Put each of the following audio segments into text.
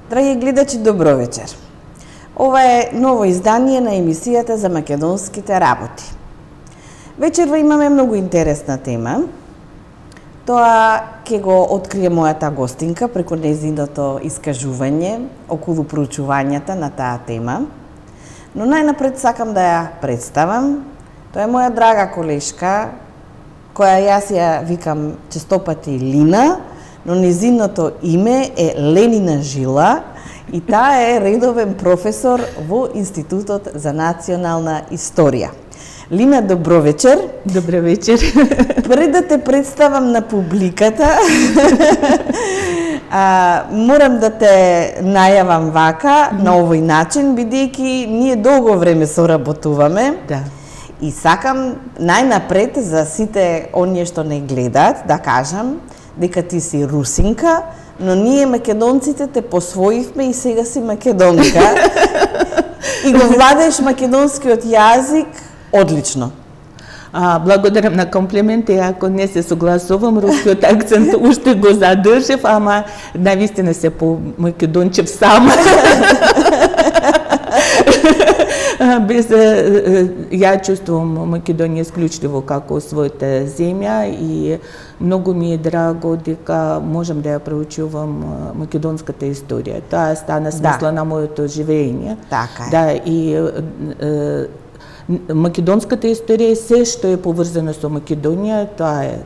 Драги гледачи, добро вечер. Ова е ново издание на емисијата за македонските работи. Вечерва имаме многу интересна тема. Тоа ќе го открие мојата гостинка преку нејзиното искажување околу проучувањата на таа тема. Но најнапред сакам да ја представам. Тоа е моја драга колешка, која јас ја викам честопати Лина, но нејзиното име е Ленина Жила и таа е редовен професор во Институтот за национална историја. Лина, добро вечер. Добро вечер. Пред да те представам на публиката, морам да те најавам вака, на овој начин, бидејќи ние долго време соработуваме. Да. И сакам најнапред за сите оние што не гледаат да кажам дека ти си русинка, но ние македонците те посвоивме и сега си македонка. И го владееш македонскиот јазик одлично. Благодарам на комплименти, ако не се согласувам, рускиот акцент уште го задржав, ама навистина се по македончев сама. Без ја чувствувам Македонија исклучливо како својата земја и многу ми е драго дека можам да ја проучувам македонската историја. Тоа стана смисла на моето живење. Така е. Да, и македонската историја е се што е поврзано со Македонија, тоа е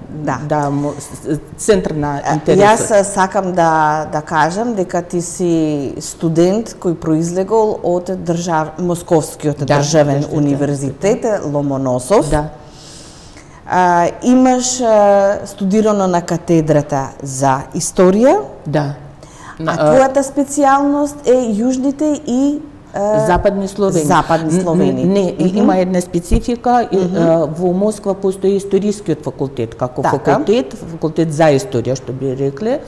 центар на интересот. Јас сакам да кажам дека ти си студент кој произлегол од Московскиот државен универзитет Ломоносов. Да. Имаш студирано на катедрата за историја. Да. Твојата специјалност е јужните и Западни Словени. Западни Словени. Не, има една специфика. Во Москва постои историскиот факултет, како факултет за историја, што би рекле.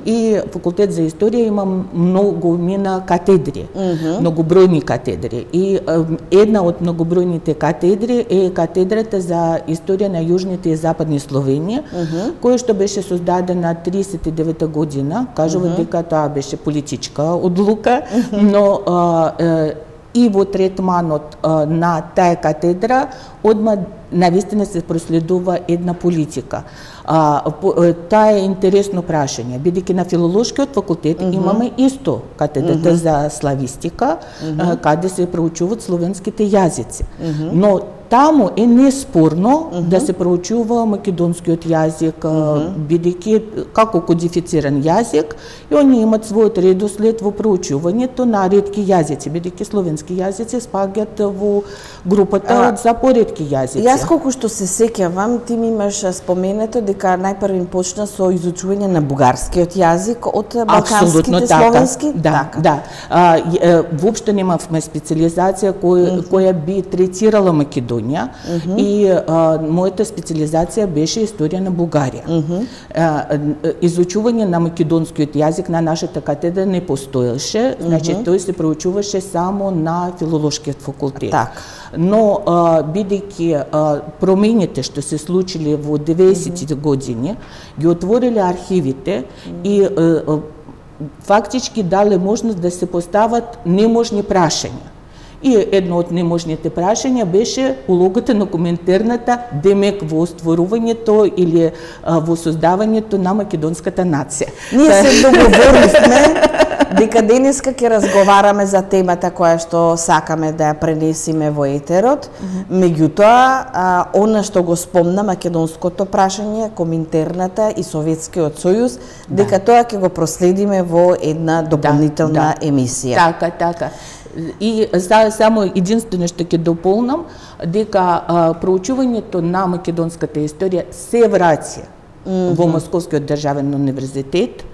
И факултет за историја има многумина катедри, многобројни катедри. И една од многобројните катедри е катедрата за историја на јужните и западни Словени, која што беше создадена 39 година. Кажува дека тоа беше политичка одлука, но и во третманот на таа катедра одма навистина се проследува една политика. Таа е интересно прашање, бидејќи на филолошкиот факултет имаме исто катедрата за славистика, каде се проучуваат словенските јазици. Но таму е неспорно да се проучува македонскиот јазик, бидејќи како кодифициран јазик, и они имаат својот редослед во проучувањето на ретки јазици, бидејќи словенски јазици спаѓаат во групата за поретки јазици. Јас колку што се сеќавам, ти ми имаш споменато дека најпрви почна со изучување на бугарскиот јазик од балканските словенски. Да. Воопшто немавме специализација која би третирала Македонија. И мојата специализација беше историја на Бугарија. Изучување на македонскиот јазик на нашата катедра не постоеше, значи тој се проучуваше само на филолошкиот факултет. Но бидејќи промените што се случиле во 90-тите години ги отвориле архивите и фактички дале можност да се постават неможни прашања. И едно од неможните прашања беше улогата на коминтерната, демек во стварувањето или во создавањето на македонската нација. Ние се договоривме дека денеска ќе разговараме за темата која што сакаме да ја пренесиме во етерот. Меѓутоа, она што го спомна македонското прашање, коминтерната и Советскиот сојуз, дека тоа ќе го проследиме во една дополнителна емисија. Така. И само единствено што ќе дополнам, дека проучувањето на македонската историја се враќа во Московскиот државен универзитет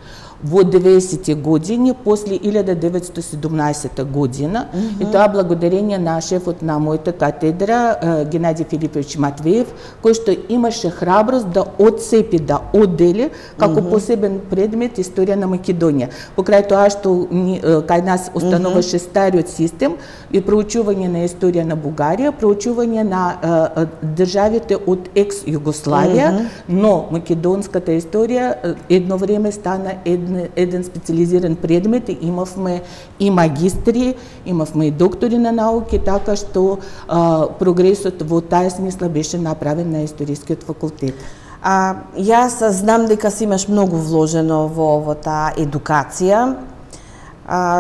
во 90-ти години, после 1917 година, и тоа благодарение на шефот на мојата катедра, Геннадиј Филипович Матвеев, кој што имаше храброст да отцепи, да оддели како посебен предмет историја на Македонија. Покрај тоа што кај нас остануваше стариот систем и проучување на историја на Бугарија, проучување на државите од екс-Југославија, но македонската историја едно време стана една еден специализиран предмет, имавме и магистри, имавме и доктори на науки, така што прогресот во таа смисла беше направен на Историскиот факултет. Јас знам дека си имаш многу вложено во таа едукација,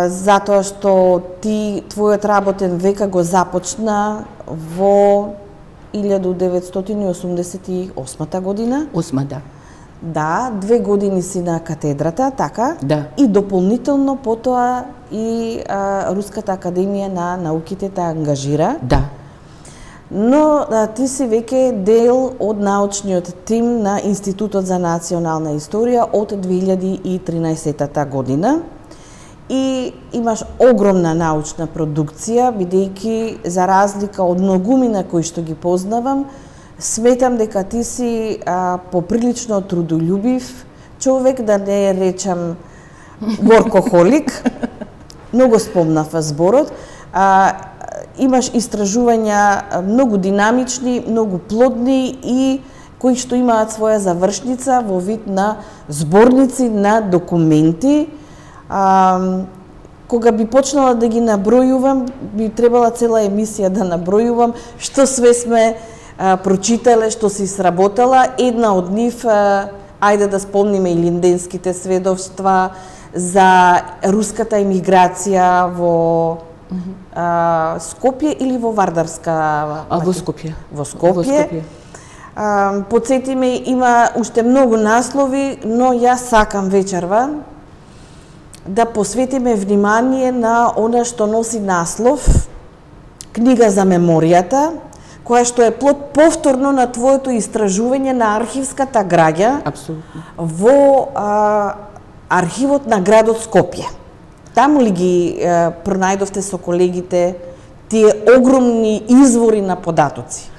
затоа што твојот работен века го започна во 1988 година. 8, да. Да, 2 години си на катедрата, така? Да. И дополнително потоа и Руската академија на науките те ангажира. Да. Но ти си веќе дел од научниот тим на Институтот за национална историја од 2013 година. И имаш огромна научна продукција, бидејќи за разлика од многумина кои што ги познавам, сметам дека ти си поприлично трудолюбив човек, да не речам горкохолик. Многу спомнав зборот. Имаш истражувања многу динамични, многу плодни и кои што имаат своја завршница во вид на зборници на документи. Кога би почнала да ги набројувам, би требала цела емисија да набројувам што све сме прочитале, што си сработала. Една од нив, ајде да спомниме и линденските сведоштва за руската емиграција во Скопје или во Вардарска? Во Скопје. Во Скопје. Потсетиме, има уште многу наслови, но јас сакам вечерва да посветиме внимание на она што носи наслов Книга за меморијата, која што е плод повторно на твоето истражување на архивската граѓа. Апсолутно. Во архивот на градот Скопје. Таму ли ги пронајдовте со колегите тие огромни извори на податоци?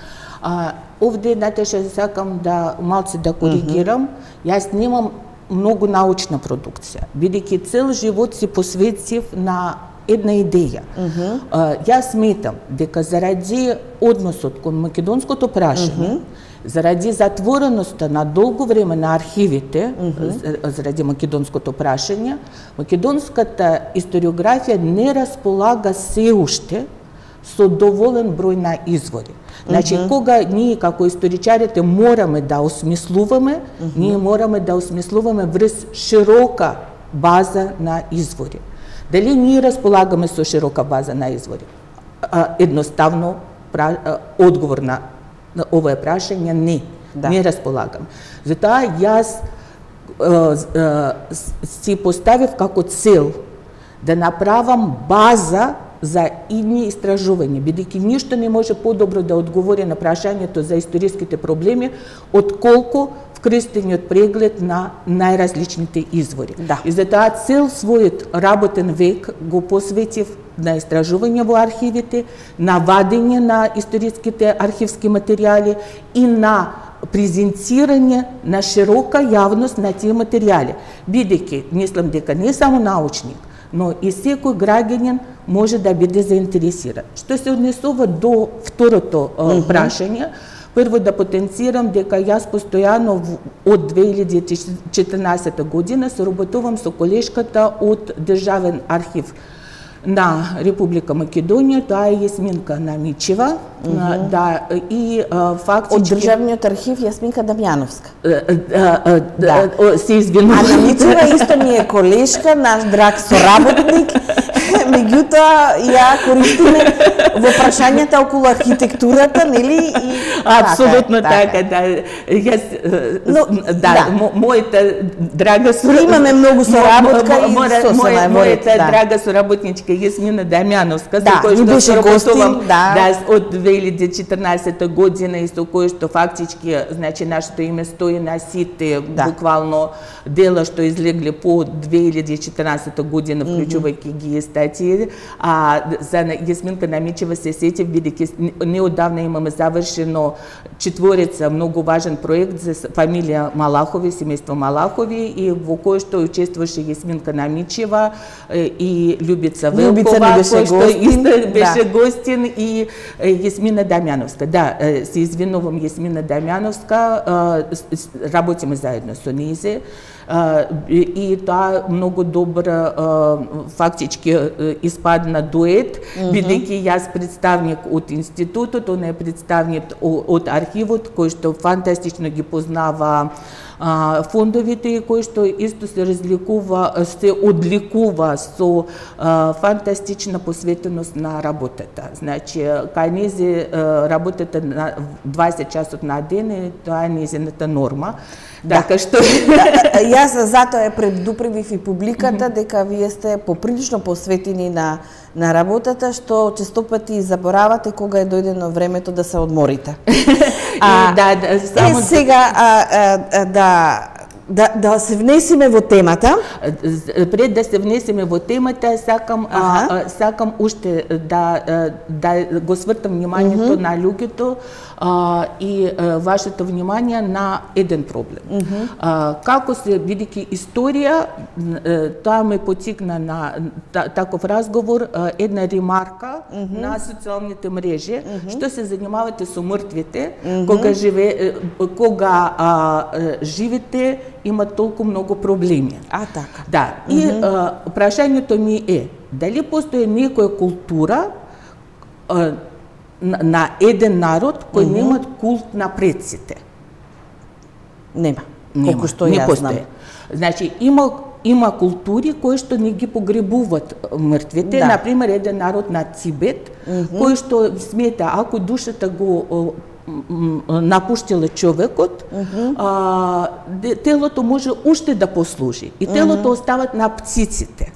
Овде, Наташа, сакам да малце да коригирам. Јас немам многу научна продукција, бидејќи цел живот си посветив на една идеја. Јас сметам дека заради односот кон македонското прашање, заради затвореноста на долго време на архивите, заради македонското прашање, македонската историографија не располага се уште со доволен број на извори. Значи, кога ние како историчарите мораме да осмислуваме, ние мораме да осмислуваме врз широка база на извори. Дали ние располагаме со широка база на извори? Едноставно, одговор на овое прашање не. Да. Не располагам. Затоа јас си поставив како цел да направам база за идни истражувања, бидејќи ништо не може подобро да одговори на прашањето за историските проблеми, отколку вкрстениот преглед на најразличните извори. Да. И затоа цел својот работен век го посветив на истражување во архивите, на вадење на историските архивски материјали и на презентирање на широка јавност на тие материјали. Бидејќи, мислам дека не само научник, но и секој граѓанин може да биде заинтересиран. Што се однесува до второто прашање, прво да потенцирам дека јас постојано од 2014 година соработувам со колешката од Државен архив на Република Македонија, тоа е Јасминка Намичева, да, и фактички... Од Државниот архив Јасминка Дамјановска. Се извинувам. А Намичева исто ми е колешка, наш драг соработник, меѓутоа ја користиме во прашањата околу архитектурата, нели? Апсолутно така, да. Јас, мојата драга соработничка... Имаме многу соработка и мојата драга соработничка Јасмина Дамјановска, со која што соработувам од 2014 година и со која што фактички, значи, нашето име стои на сите, буквално дела што излегле по 2014 година, вклучувајќи ги статии. За Јасминка Намичева се сетив, бидејќи неодавна имаме завршено четворица многу важен проект за фамилија Малахови, семејство Малахови, и во кој што учествуваше Јасминка Намичева и Љубица Велкова, кој што исто беше гостин, и Јасмина Дамјановска. Да, се извинувам, Јасмина Дамјановска, работиме заедно со нејзе. и тоа многу добро фактички испадна дует, бидејќи јас представник од институтот, он е представник од архивот, кој што фантастично ги познава фондовите, кој што исто се одликува со фантастична посветеност на работата. Значи, кај низи работата на 20 часот на ден, тоа е низината норма. Така што јас затоа предупредив и публиката дека вие сте поприлично посветени на работата, што често пати заборавате кога е дојдено времето да се одморите. Сега да се внесеме во темата. Пред да се внесеме во темата, сакам уште да го свртам вниманието на луѓето и вашето внимание на еден проблем. Како се, бидејќи историја, тоа ме потикна на таков разговор, една ремарка на социјалните мрежи, што се занимавате со мртвите, кога живите имат толку многу проблеми. Така. Да, и прашањето ми е, дали постои некоја култура на еден народ кој немат култ на предците? Нема. Колку што јас знам. Значи, има култури кои што не ги погребуваат мртвите, например еден народ на Тибет, кој што смета ако душата го напуштила човекот, телото може уште да послужи и телото остават на птиците.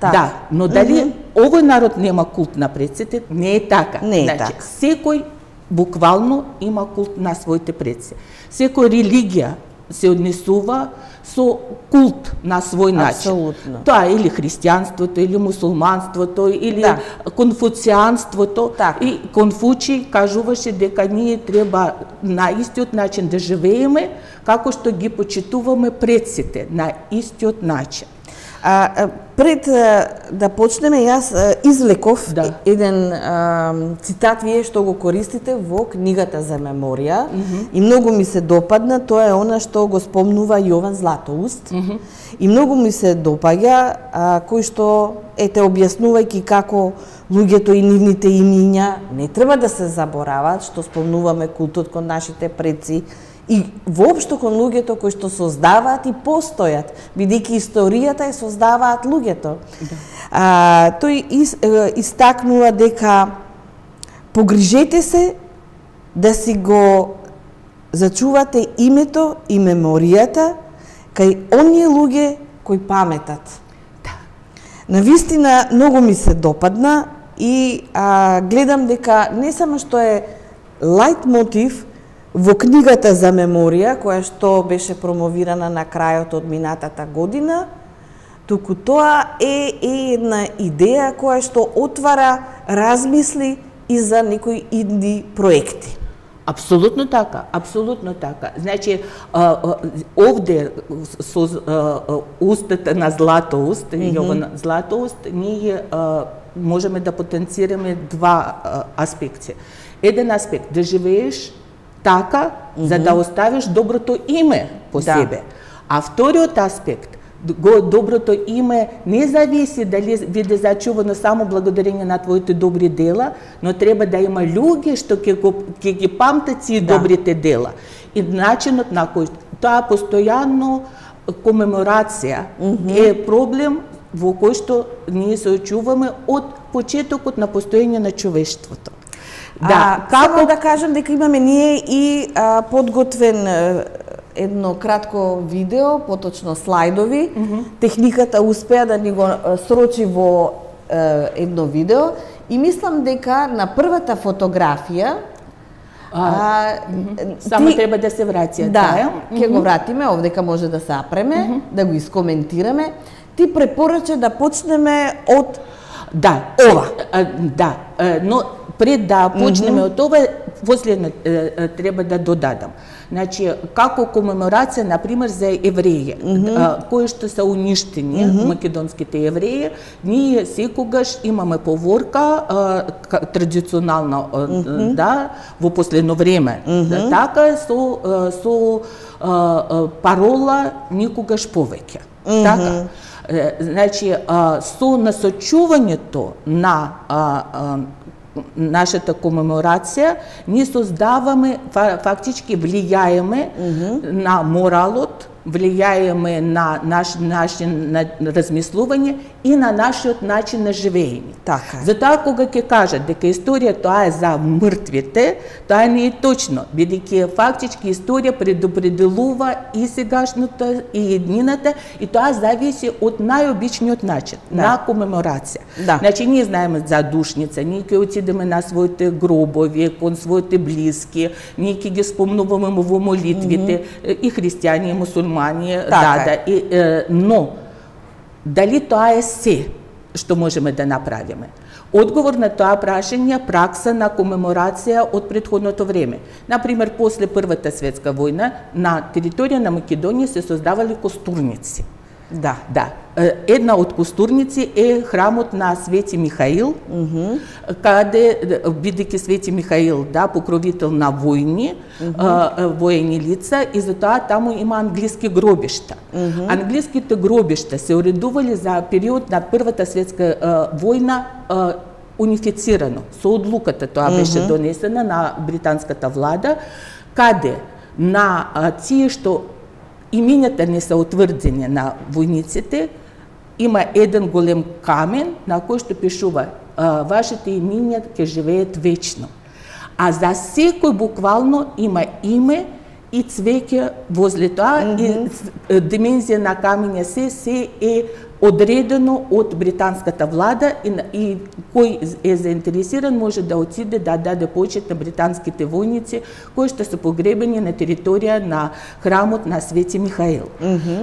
Да, но дали овој народ нема култ на предците? Не е така. Значи, секој буквално има култ на своите предци. Секој религија се однесува со култ на свој начин. Апсолутно. Тоа е или христијанството, или мусулманството, или конфуцијанството. И Конфуци кажуваше дека ние треба на истиот начин да живееме, како што ги почитуваме предците, на истиот начин. Пред да почнеме, јас извлеков еден цитат вие што го користите во книгата за меморија и многу ми се допадна, тоа е она што го спомнува Јован Златоуст и многу ми се допаѓа, кој што ете објаснувајќи како луѓето и нивните имиња не треба да се забораваат, што спомнуваме култот кон нашите предци и воопшто кон луѓето кои што создаваат и постојат, бидејќи историјата ја создаваат луѓето. Тој истакнува дека погрижете се да си го зачувате името и меморијата кај оние луѓе кои паметат. Навистина, многу ми се допадна и гледам дека не само што е лајт мотив во книгата за меморија, која што беше промовирана на крајот од минатата година, туку тоа е една идеја која што отвара размисли и за некои идни проекти. Апсолутно така, апсолутно така. Значи, овде со устата на Златоуст, Јован Златоуст, ние можеме да потенцираме два аспекти. Еден аспект, да живееш така, за да оставиш доброто име по себе. А вториот аспект, доброто име не зависи дали биде зачувано само благодарение на твоите добри дела, но треба да има луѓе што ќе ги памтат тие добрите дела. И начинот на кој тоа постојано комеморација е проблем во кој што ние се очуваме од почетокот на постоење на човештвото. Само да кажам дека имаме ние и подготвен едно кратко видео, поточно слайдови. Техниката успеа да ни го срочи во едно видео и мислам дека на првата фотографија само треба да се врати. Да, ќе го вратиме, овдека може да се апреме, да го искоментираме. Ти препорача да почнеме од ова. Да, но пред да почнеме од ова, последно треба да додадам. Значи, како комеморација, например, за евреи, кои што се уништени, македонските евреи, ние секогаш имаме поворка, традиционално, да, во последно време, така, со парола никогаш повеќе. Така. Значи, со насочувањето на нашата комеморација, ние создаваме, фактички влијаеме на моралот, влијаеме на начин на размислување и на нашиот начин на живење. Така. Затоа кога ќе кажат дека историја тоа е за мртвите, тоа не е точно, бидејќи фактички историја предопределува и сегашната и еднината, и тоа зависи од најобичниот начин на комеморација. Значи ние знаеме за душница, ние ќе отидеме на своите гробови, кон своите блиски, ние ќе ги спомнуваме во молитвите, и христијани, и мусулмани, но дали тоа е се што можеме да направиме? Одговор на тоа прашање пракса на комеморација од претходното време. Например, после Првата светска војна на територија на Македонија се создавале костурници. Да. Една од костурници е храмот на Свети Михаил, каде, бидејќи Свети Михаил, покровител на војни, воени лица, и затоа таму има англиски гробишта. Англиските гробишта се уредували за период на Првата светска војна унифицирано. Со одлуката тоа беше донесена на британската влада, каде на тие што имињата не се утврдени на војниците, има еден голем камен на кој што пишува вашите имиња ќе живеат вечно. А за секој буквално има име и цвеќе возле тоа, и димензија на камења се е одредено од британската влада, и кој е заинтересиран може да отиде да даде почит на британските војници кои што се погребени на територија на храмот на Свети Михаил.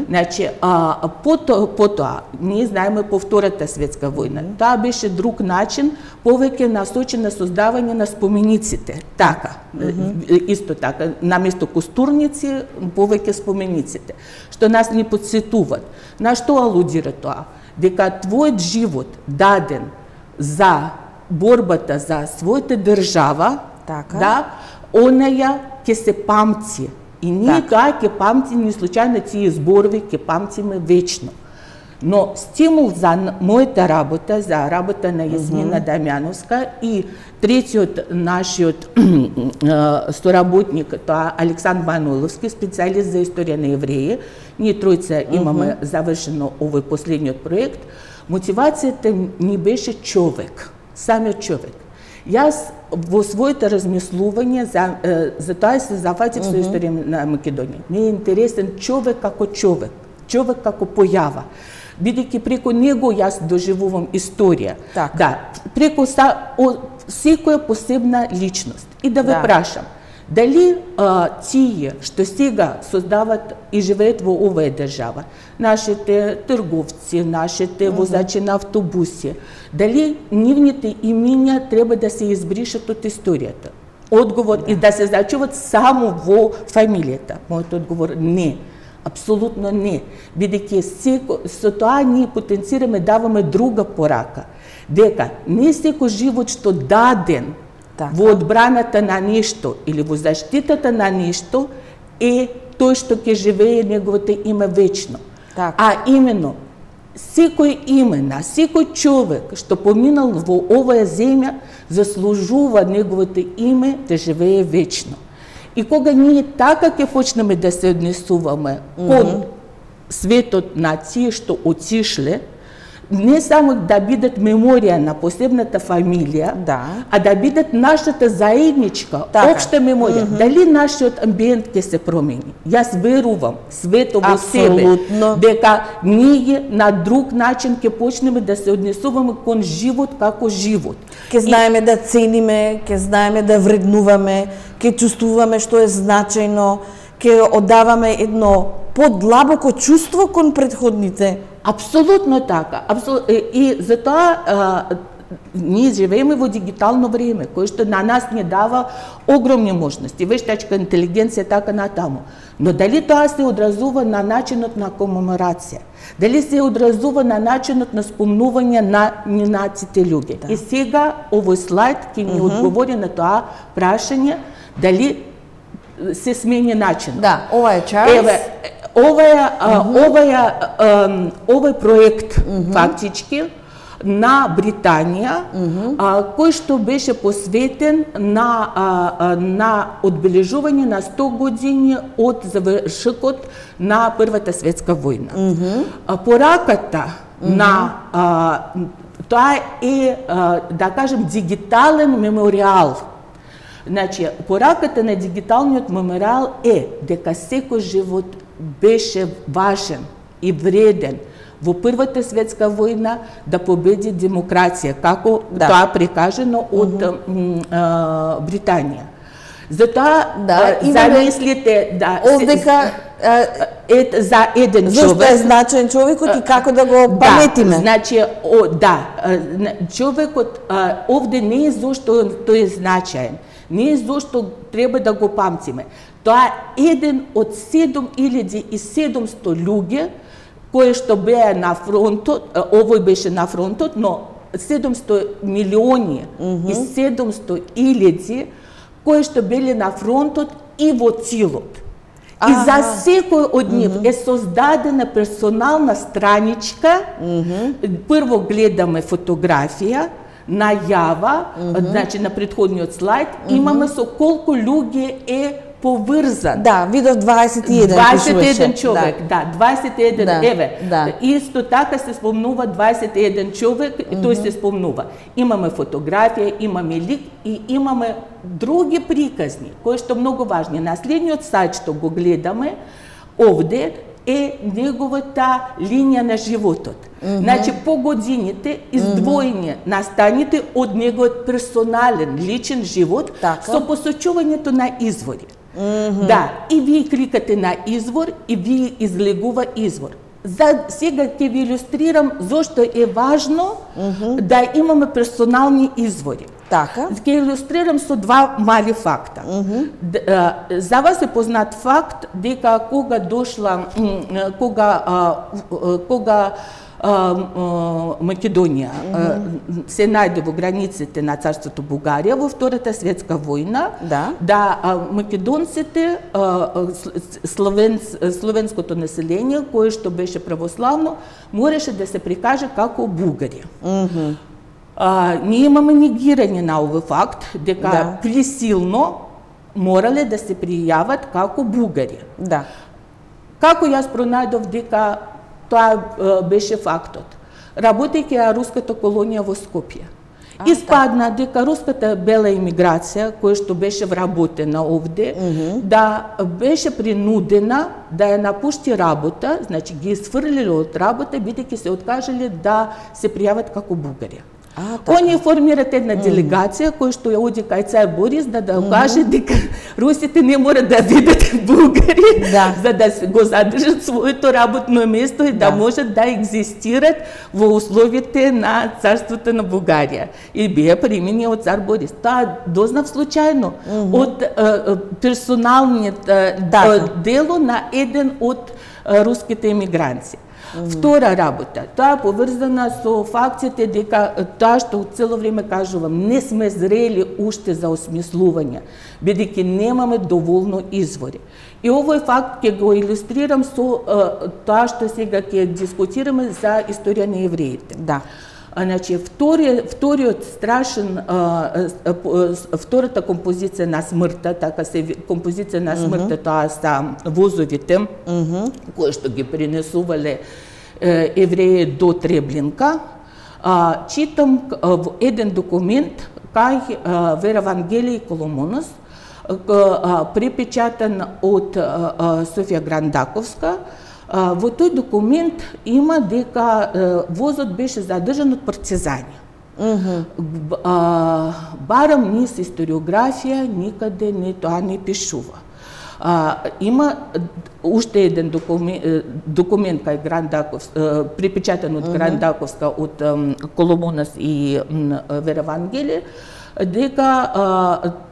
Значи, потоа, ние знаеме по Втората светска војна. Тоа беше друг начин, повеќе насочен на создавање на спомениците. Така, исто така, наместо костурници, повеќе спомениците, што нас ни подсетуваат. На што алудира тоа? Дека твојот живот даден за борбата за својата држава, онаја ќе се памти. И ние тоа ќе памтиме, не случајно тие зборови ќе памтиме вечно. Но стимул за мојата работа, за работа на Јасмина Дамјановска и третиот нашиот соработник, тоа Александр Маноловски, специјалист за историја на евреи, ние тројца имаме завршено овој последниот проект, мотивацијата ни беше човек, самиот човек. Јас во своите размислување, за тоа се зафатив со историја на Македонија. Ми е интересен човек како човек, човек како појава. Бидејќи преку него јас доживувам историја. Преку секоја посебна личност. И да ве прашам, дали тие што сега создават и живеат во оваа држава, нашите трговци, нашите возачи на автобуси, дали нивните имиња треба да се избришат од историјата? Одговор и да се зачуват само во фамилијата. Мојот одговор не. Апсолутно не. Бидејќи со тоа ние потенцираме, даваме друга порака. Дека не секој живот што даден во одбраната на нешто или во заштитата на нешто е тој што ќе живее неговото име вечно. А именно, секој име на секој човек што поминал во оваа земја заслужува неговото име да живее вечно. И кога ние така ќе почнеме да се однесуваме кон светот на тие што отишле, не само да бидат меморија на посебната фамилија, а да бидат нашата заедничка, општа меморија. Дали нашиот амбиент ќе се промени? Јас верувам свето во себе, дека ние на друг начин ќе почнеме да се однесуваме кон живот како живот. Ќе знаеме да цениме, ќе знаеме да вреднуваме, ќе чувствуваме што е значајно, ќе оддаваме едно подлабоко чувство кон претходните. Апсолутно така. И затоа ние живееме во дигитално време, кое што на нас не дава огромни можности, вештачка интелигенција, така натаму. Но дали тоа се одразува на начинот на комеморација? Дали се одразува на начинот на спомнување на наците луѓе? Да. И сега овој слайд ќе ни одговори на тоа прашање, дали се смени начинот. Да, ова е Чарлс. Овој проект фактички на Британија, кој што беше посветен на одбележување на 100 години од завршокот на Првата светска војна. Пораката на тоа е, да кажем, дигитален мемориал. Значи, пораката на дигиталниот мемориал е дека секој живот беше важен и вреден во Првата светска војна да победи демокрација, како тоа прикажано од Британија. Затоа замислите овдека за еден човек. Зошто е значен човекот и како да го паметиме? Значи, човекот овде не е зошто тој е значаен, не е зошто треба да го памтиме. Тоа е еден од 7700 луѓе кои што беа на фронтот, овој беше на фронтот, но 700 милиони и 700 илјади кои што бели на фронтот и во цилот. И за секој од нив е создадена персонална страничка. Прво гледаме фотографија, најава, значи на претходниот слайд, имаме со колку луѓе е поврзан. Да, видов 21 човек, да, 21, еве. Исто така се спомнува 21 човек, тој се спомнува. Имаме фотографија, имаме лик и имаме други приказни, кои што многу важни. На следниот сајт што го гледаме, овде е неговата линија на животот. Значи, по годините издвоени настаните од неговиот персонален, личен живот со посочувањето на извори. Да, и вие кликате на извор и вие излегува извор. За сега ќе ви илюстрирам зошто е важно да имаме персонални извори. Така. Ќе илюстрирам со два мали факта. За вас е познат факт дека кога Македонија се најде во границите на царството Бугарија во Втората светска војна, македонците, словенското население, кое што беше православно, мораше да се прикаже како бугари. Ние имаме негирање на овој факт, дека присилно морале да се пријават како бугари. Како јас пронајдов дека тоа беше фактот? Работејќи ја руската колонија во Скопје. Испадна дека руската бела имиграција, која што беше вработена овде, да беше принудена да ја напушти работа, значи ги изфрлиле од работа, бидејќи се откажале да се пријават како бугари. Они формират една делегација која што ја оди кај цар Борис да каже дека русите не мора да видат бугари за да го задржат своето работно место и да можат да екзистират во условите на царството на Бугарија. И беа примени од цар Борис. Тоа дознав случајно од персоналниот дело на еден од руските емигранци. Втора работа, тоа поврзана со фактите дека тоа што цело време кажувам, не сме зрели уште за осмислување, бидејќи немаме доволно извори. И овој факт ќе го илюстрирам со тоа што сега ќе дискутираме за историја на евреите. Значи, вториот страшен, втората композиција на смртта, така се композиција на смртта, тоа са возовите, кои што ги пренесувале евреи до Треблинка. Читам еден документ кај Вера Вангелија Коломонос, препечатан од Софија Грандаковска. Во тој документ има дека возот беше задржан од партизани. Барам низ историографија никаде тоа не пишува. Има уште еден документ кај Гран Даковска, припечатан од Гран Даковска од Коломонас и Веравангеле, дека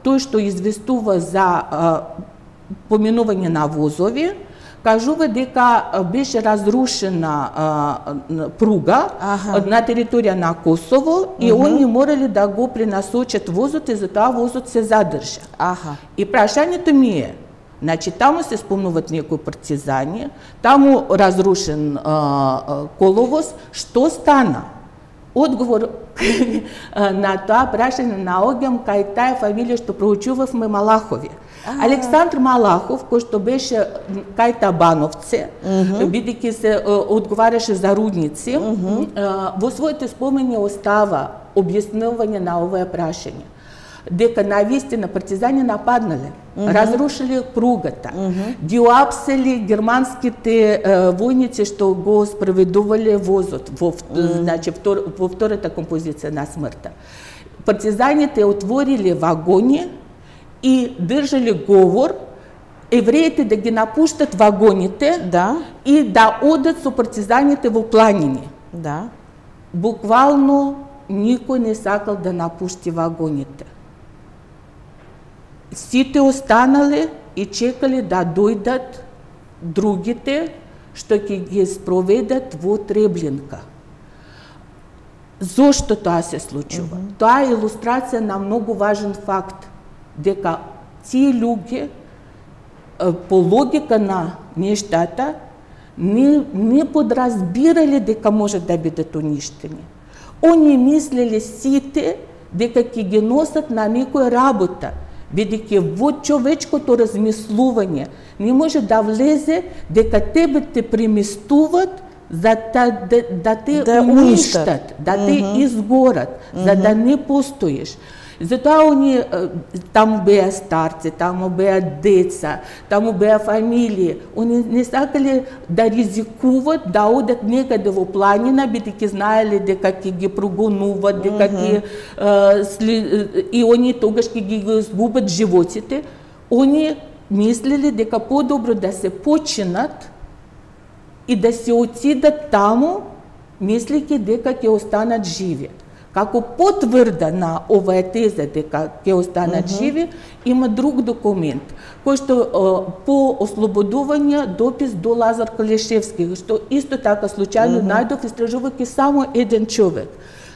тој што известува за поминување на возови, кажува дека беше разрушена пруга на територија на Косово и они морали да го пренасочат возот и затоа возот се задржа. И прашањето ми е, значи таму се спомнуваат некои партизани, таму разрушен коловоз, што стана? Одговор на тоа прашање наоѓам кај таа фамилија што проучувавме Малахови. Александр Малахов, кој што беше кај Табановце, бидејќи се одговараше за рудници, во своите спомени остава објаснување на овое прашање. Дека навистина партизани нападнале, разрушили пругата, ги уапсели германските војници што го спроведувале возот во втората композиција на смртта. Партизаните отворили вагони и држали говор евреите да ги напуштат вагоните и да одат со партизаните во планини. Буквално никој не сакал да напушти вагоните. Сите останале и чекале да дојдат другите што ќе ги спроведат во Треблинка. Зошто тоа се случува? Тоа е илустрација на многу важен факт, дека тие луѓе по логика на нештата не подразбирале дека можат да бидат уништени. Они мислеле сите дека ќе ги носат на некоја работа, бидејќи во човечкото размислување не може да влезе дека тебе те преместуваат за да те уништат, да те изгорат, за да не постоиш. Затоа они таму беа старци, таму беа деца, таму беа фамилии. Они не сакале да ризикуват да одат некаде во планина, бидејќи знаеле дека ќе ги прогонуват, дека ќе и они тогаш ќе ги изгубат животите. Они мислеле дека подобро да се починат и да се отидат таму, мислејќи дека ќе останат живи. Како потврда на оваа теза дека ќе останат живи, има друг документ, кој што по ослободување допис до Лазар Калешевски, што исто така случајно најдов истражувајќи само еден човек.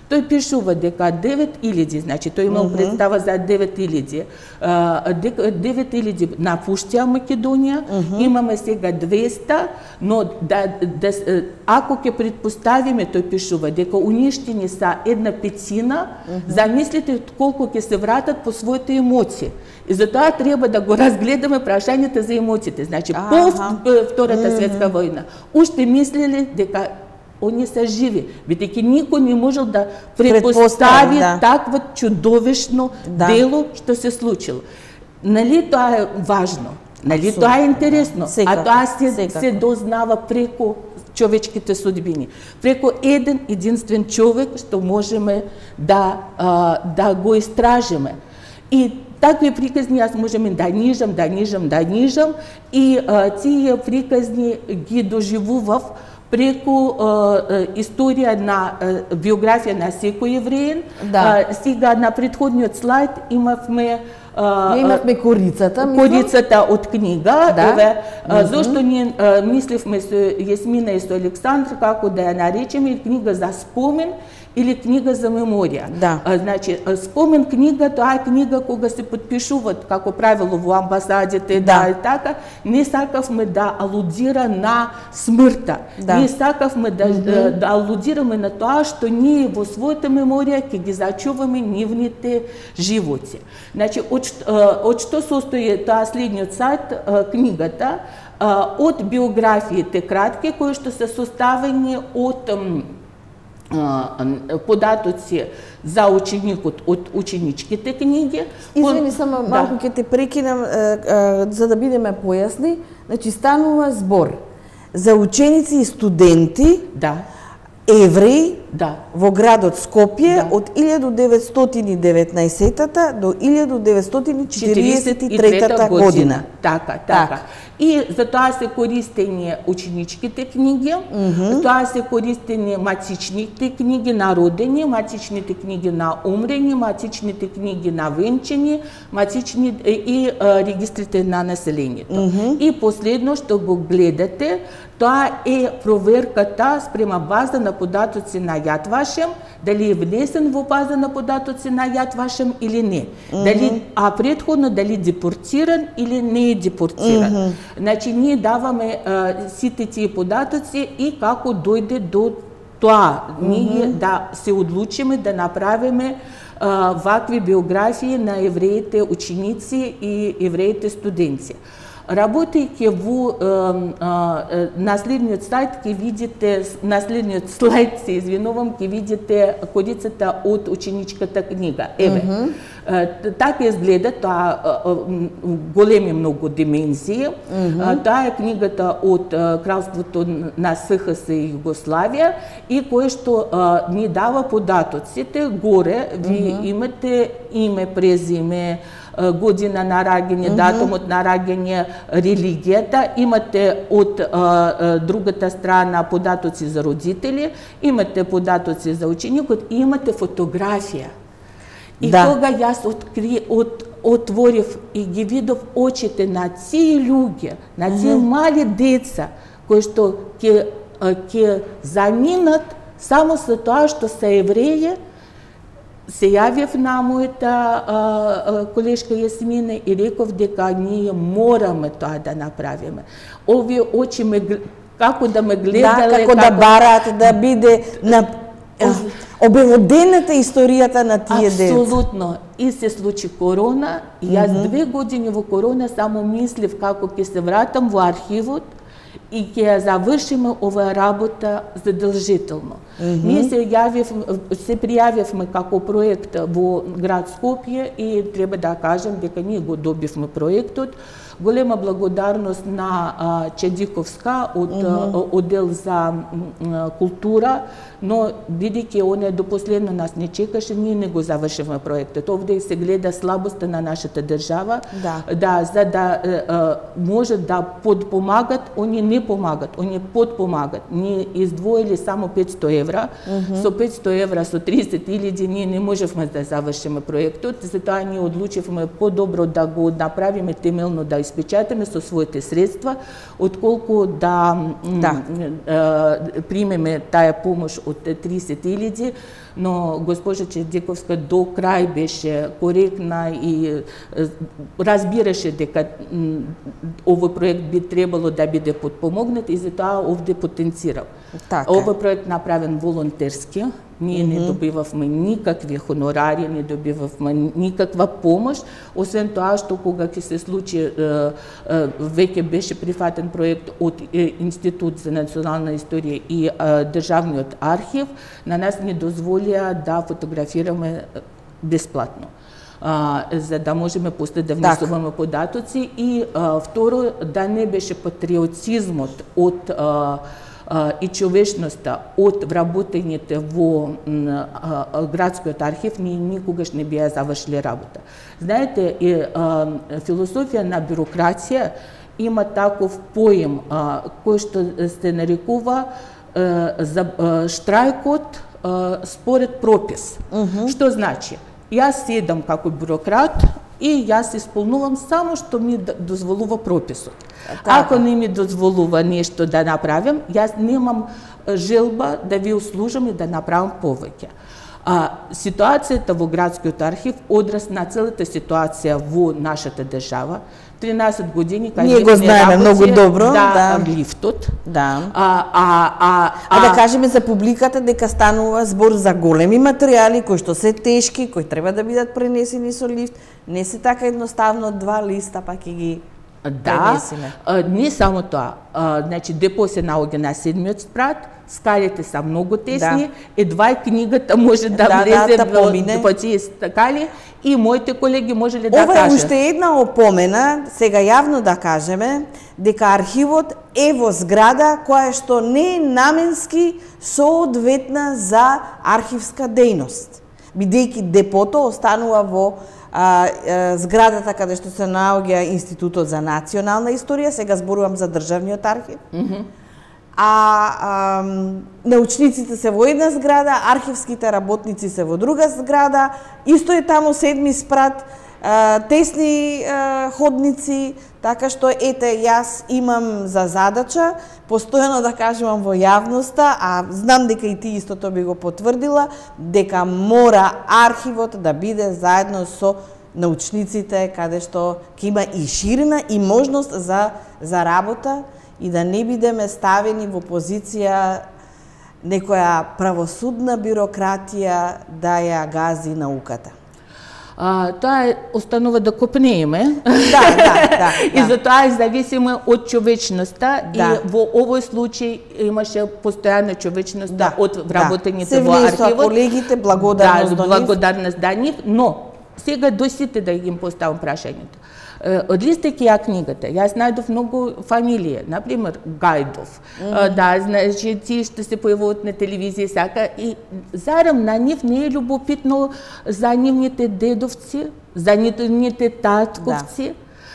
Тој пишува дека 9000, значи тој имал представа за 9000, 9000 напуштија Македонија, имаме сега 200, но ако ќе предпоставиме, тој пишува дека уништени са 1/5, замислите колку ќе се вратат по своите емоции. И затоа треба да го разгледаме прашањето за емоциите. Значи, по Втората светска војна, уште мислеле дека они се живи, бидејќи никој не можел да предпостави такво чудовишно дело што се случило. Нали тоа е важно, нали тоа е интересно, а тоа се дознава преку човечките судбини, преку еден единствен човек што можеме да го истражиме. И такви приказни јас можеме да нижам и тие приказни ги доживував преку историја на биографија на секој евреин. Сега на претходниот слайд имавме корицата од книга, зашто ние мисливме со Јасмина и со Александр како да ја наречеме книга за спомен или книга за меморија. Значи, спомен книга, тоа е книга кога се подпишуваат, како правило во амбасадите, и така, не сакавме да алудира на смртта. Не сакавме да алудираме на тоа што ние во својата меморија ќе ги зачуваме нивните животи. Значи, од што состои тоа следниот сайт, книгата, од биографиите кратки, кои што се составени од податоци за ученикот од ученичките книги. Извини, само малку ќе те прекинам за да бидеме појасни. Значи, станува збор за ученици и студенти, евреи, во градот Скопје од 1919 до 1943 година. Така. И за тоа се користени ученичките книги, тоа се користени матичните книги на родени, матичните книги на умрени, матичните книги на венчани, и регистрите на населението. И последно што го гледате, тоа е проверката спрема база на податоци на Јад Вашем, дали е внесен во база на податоци на Јад Вашем или не. А предходно дали депортиран или не е депортиран. Значи, ние даваме сите тие податоци и како дојде до тоа, ние да се одлучиме да направиме вакви биографии на евреите ученици и евреите студенти. Работејќи во наследниот слайд ќе видите, наследниот слайд се извинувам, ќе видите корицата од ученичката книга. Еве, така изгледа, тоа големи многу димензии. Таа е книгата од Кралството на СХС и Југославија и кое што ни дава податоците. Горе ви имате име, презиме, година на раѓање, датумот на раѓање, религијата, имате од другата страна податоци за родители, имате податоци за ученикот и имате фотографија. И тога јас отворив и ги видов очите на тие луѓе, на тие мали деца, кои што ќе заминат само со тоа што се евреи. Се јавив на мојата колешка Јасмина и реков дека ние мораме тоа да направиме. Овие очи како да ме гледале, како да бараат да биде на обелодената историјата на тие деца. Апсолутно. И се случи корона, и јас 2 години во корона само мислев како ќе се вратам во архивот и ќе ја завршиме оваа работа задржително. Ние се пријавивме како проект во град Скопје и треба да кажем дека ние го добивме проектот. Голема благодарност на Чедиковска од оддел за култура, но бидејќи оне до последно нас не чекаше, ние не го завршивме проектот. Овде се гледа слабоста на нашата држава, за да може да подпомагат, они не помагат, они подпомагат. Ние издвоили само 500 евра, со 500 евра, со 30.000 ние не можевме да завршиме проектот, затоа ние одлучивме подобро да го направиме темелно, да испечатаме со своите средства, отколку да примеме таа помош од 30.000, но госпожа Чедиковска до крај беше коректна и разбираше дека овој проект би требало да биде подпомогнат и затоа овде потенцирал. Овој проект направен волонтерски, ние не добивавме никакви хонорари, не добивавме никаква помош, освен тоа што кога ќе се случи, веќе беше прифатен проект од Институт за национална историја и Државниот архив, на нас не дозволија да фотографираме бесплатно, за да можеме после да внесуваме податоци и второ, да не беше патриотизмот од и човечноста од вработените во градскиот архив, ние никогаш не бија завршили работа. Знаете, философија на бюрократија има таков поем кој што се нарекува штрајкот според пропис. Што значи? Јас седам како бюрократ и јас исполнувам само што ми дозволува прописот. Ако не ми дозволува нешто да направам, јас немам желба да ви услужам и да направам повеќе. Ситуацијата во градскиот архив одраз на целата ситуација во нашата држава. 13 години кај ние го знаеме многу добро, лифтот. Да кажеме за публиката дека станува збор за големи материјали кои што се тешки, кои треба да бидат пренесени со лифт. Не се така едноставно 2 листа па ќе ги пренесиме. Не само тоа. Значи депо се наоѓа на 7-миот спрат, скалите са многу тесни, едва книгата може да влезе во тие скали и моите колеги може ли да кажат. Ова е уште една опомена, сега јавно да кажеме, дека архивот е во зграда која што не е наменски соодветна за архивска дејност, бидејќи депото останува во зградата каде што се наоѓа Институтот за национална историја, сега зборувам за државниот архив. Научниците се во една зграда, архивските работници се во друга зграда, исто е таму седми спрат, тесни ходници, така што ете јас имам за задача постојано да кажувам во јавноста, а знам дека и ти истото би го потврдила, дека мора архивот да биде заедно со научниците, каде што ќе има и ширина и можност за работа и да не бидеме ставени во позиција некоја правосудна бирократија да ја гази науката. Тоа останува да копнееме. Да. И затоа е зависимо од човечноста и во овој случај имаше постојана човечноста од вработените во архивот. Се колегите, благодарност до нив. Благодарност до нив, но сега до сите да им поставам прашањето. Одлистајќи ја книгата, јас најдов многу фамилија, например Гајдов, значи тие што се појавуваат на телевизија сака и зарем на нив не е љубопитно за нивните дедовци, за нивните татковци.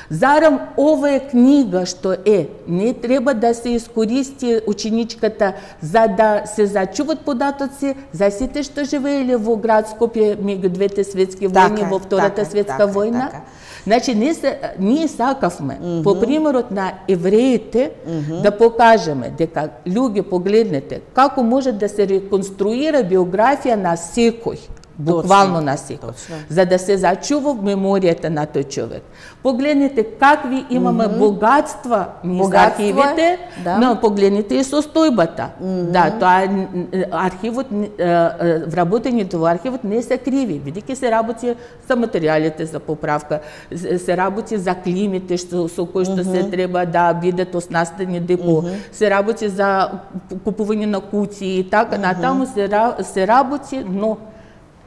Зарем ова е книга што не треба да се искористи ученичката за да се зачуват податоци за сите што живееле во град Скопје меѓу двете светски војни, во Втората светска војна. Значи, ние сакавме, по примерот на евреите, да покажеме дека, луѓе, погледнете, како може да се реконструира биографија на секој, буквално на секој, за да се зачува меморијата на тој човек. Погледнете какви имаме богатства низ архивите, но погледнете и состојбата. Да, тоа архивот, вработењето во архивот не се криви, бидејќи се работи за материјалите за поправка, се работи за климите со кои што се треба да бидат оснастени депо, се работи за купување на куќи и така натаму се работи, но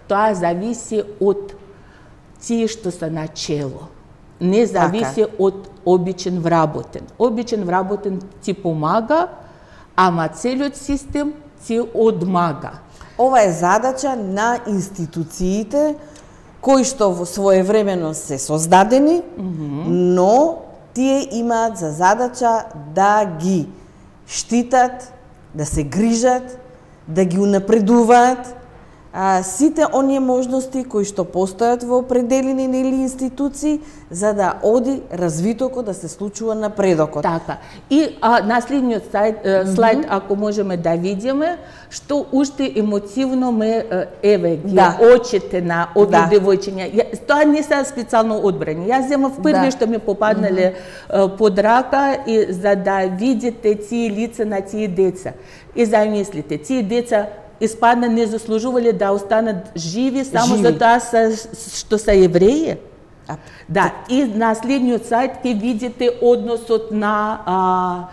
тоа зависи од тие што се начело. Не зависи од обичен вработен. Обичен вработен ти помага, ама целиот систем ти одмага. Ова е задача на институциите кои што своевремено се создадени, но тие имаат за задача да ги штитат, да се грижат, да ги унапредуваат сите оние можности кои што постојат во определени институции за да оди развитокот, да се случува напредокот. Така. И на следниот слайд, ако можеме да видиме, што уште емотивно ме ги очите на овие девојчиња. Тоа не се специјално одбрани. Јас земав први што ми попаднале под рака и за да видите тие лица на тие деца. И замислите, тие деца испадна не заслужувале да останат живи само за тоа што се евреи. Да, и на следниот сајт ќе видите односот на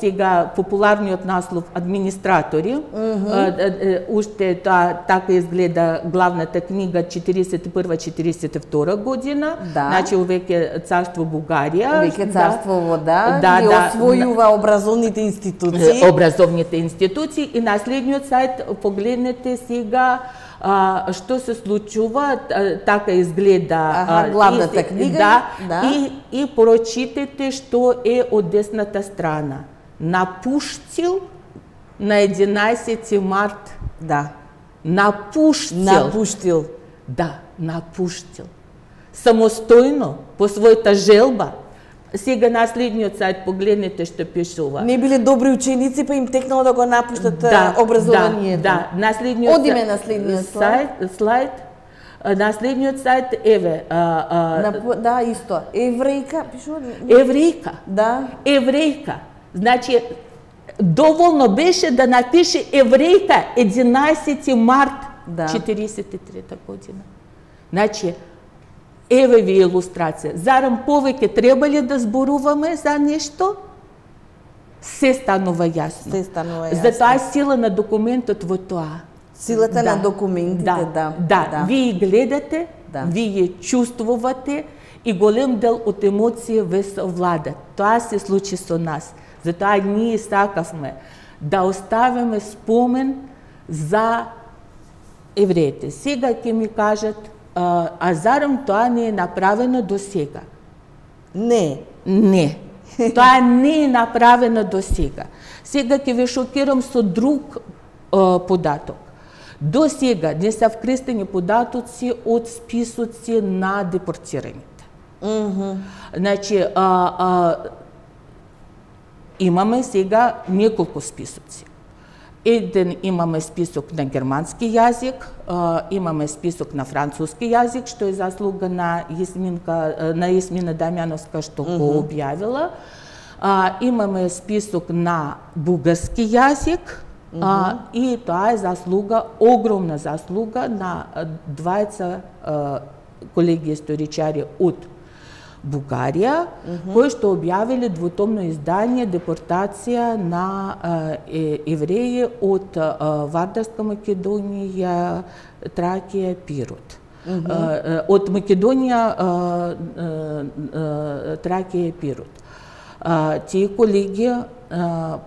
сега популарниот наслов администратори. Уште така изгледа главната книга 41-42 година. Значи веќе царство Бугарија. Веќе царство ги освојува образовните институции. Образовните институции и на следниот сајт погледнете сега што се случува, така изгледа главната книга. И прочитете што е од десната страна. Напуштил на 11 март. Напуштил. Напуштил. Самостојно, по својата желба. Сега на следниот сајт погледнете што пишува. Не биле добри ученици, па им текнало да го напуштат образованието. На следниот Одиме на следниот слайд. На следниот сајт, исто. Еврејка, пишува? Еврејка. Значи, доволно беше да напише еврејка 11 март 43 година. Значи, еве ви илустрација. Зарем повеќе треба ли да зборуваме за нешто? се станува јасно. Се станува јасно. Затоа е сила на документот во тоа. Силата на документите, да. Вие гледате, вие чувствувате и голем дел од емоција ве совладат. Тоа се случи со нас. Затоа ние сакавме да оставиме спомен за евреите. Сега ќе ми кажат, а зарем тоа не е направено до сега? Не. Тоа не е направено до сега. Сега ќе ве шокирам со друг податок. До сега не се вкрестени податоци од списоци на депортираните. Значи, имаме сега неколку списоци. Еден имаме список на германски јазик, имаме список на француски јазик, што е заслуга на Јасмина Дамјановска што го објавила. Имаме список на бугарски јазик, и тоа е заслуга, огромна заслуга на двајца колеги историчари од Бугарија, кои што објавиле двутомно издание Депортација на евреи од Вардарска Македонија, Тракија, Пирот. Од Македонија, Тракија и Пирот. Тие колеги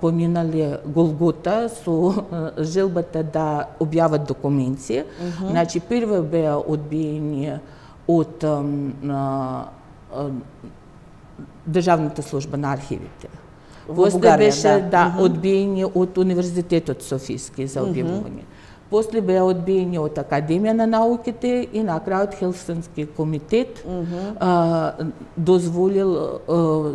поминале Голгота со желбата да објават документи. Значи, прво беа одбиени од Државната служба на архивите. После беше одбиени од Универзитетот Софијски за објавување. После беа одбиени од Академија на науките и на крајот Хелсински комитет дозволил